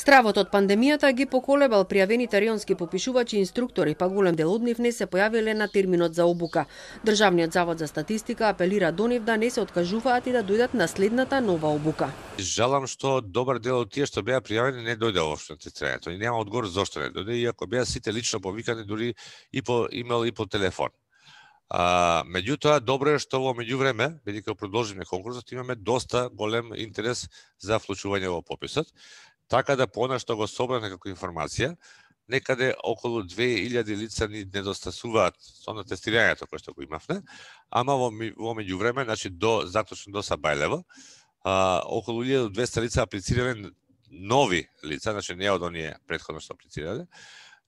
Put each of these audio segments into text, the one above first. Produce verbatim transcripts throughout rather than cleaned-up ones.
Стравот од пандемијата ги поколебал пријавените рионски попишувачи и инструктори, па голем дел од нив не се појавиле на терминот за обука. Државниот завод за статистика апелира до нив да не се откажуваат и да дојдат на следната нова обука. Жалам што добар дел од тие што беа пријавени не дојде воопшто на тестирањето и нема одговор зошто не дојде, иако беа сите лично повикани дури и по имейл и по телефон. А, меѓутоа, добро е што во меѓувреме, бидејќи продолжиме конкурсот, имаме доста голем интерес за вклучување во пописот, така да понешто го собрав некаква информација, некаде околу две илјади лица ни недостасуваат со на тестирањето кое што го имавме, ама во, во меѓувреме, значи до заточно до Сабајлево, а, околу илјада и двесте лица аплицирале нови лица, значи не од оние претходно што аплицирале,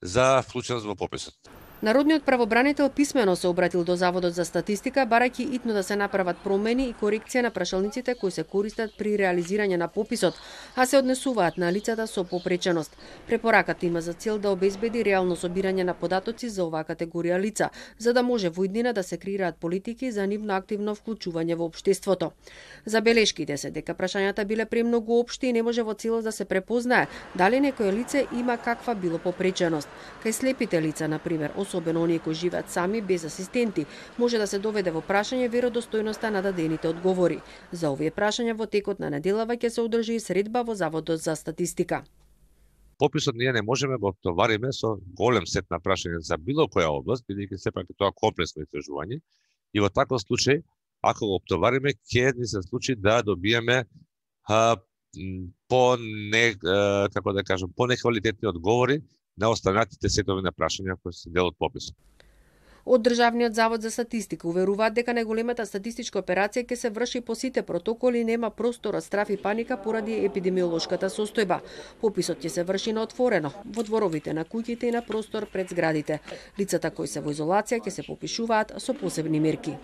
за вклученост во пописот. Народниот правобранител писмено се обратил до Заводот за статистика, барајќи итно да се направат промени и корекција на прашалниците кои се користат при реализирање на пописот, а се однесуваат на лицата со попреченост. Препораката има за цел да обезбеди реално собирање на податоци за оваа категорија лица, за да може во иднина да се креираат политики за нивно активно вклучување во општеството. Забелешките се дека прашањата биле премногу општи и не може во целост да се препознае дали некое лице има каква било попреченост. Кај слепите лица, на пример, особено оние кои живеат сами без асистенти, може да се доведе во прашање веродостојноста на дадените одговори. За овие прашања во текот на неделава ќе се одржи средба во Заводот за статистика. Пописот ние не можеме го обтовариме со голем сет на прашања за било која област, бидејќи сепак е тоа комплексно истражување, и во таков случај, ако го обтовариме, ќе ни се случи да добиеме а, по не а, како да кажам, по неквалитетни одговори на останатите сетови на прашања кои се дел од пописот. Од Државниот завод за статистика уверуваат дека најголемата статистичка операција ќе се врши по сите протоколи и нема простор од страф и паника поради епидемиолошката состојба. Пописот ќе се врши на отворено, во дворовите на куќите и на простор пред зградите. Лицата кои се во изолација ќе се попишуваат со посебни мерки.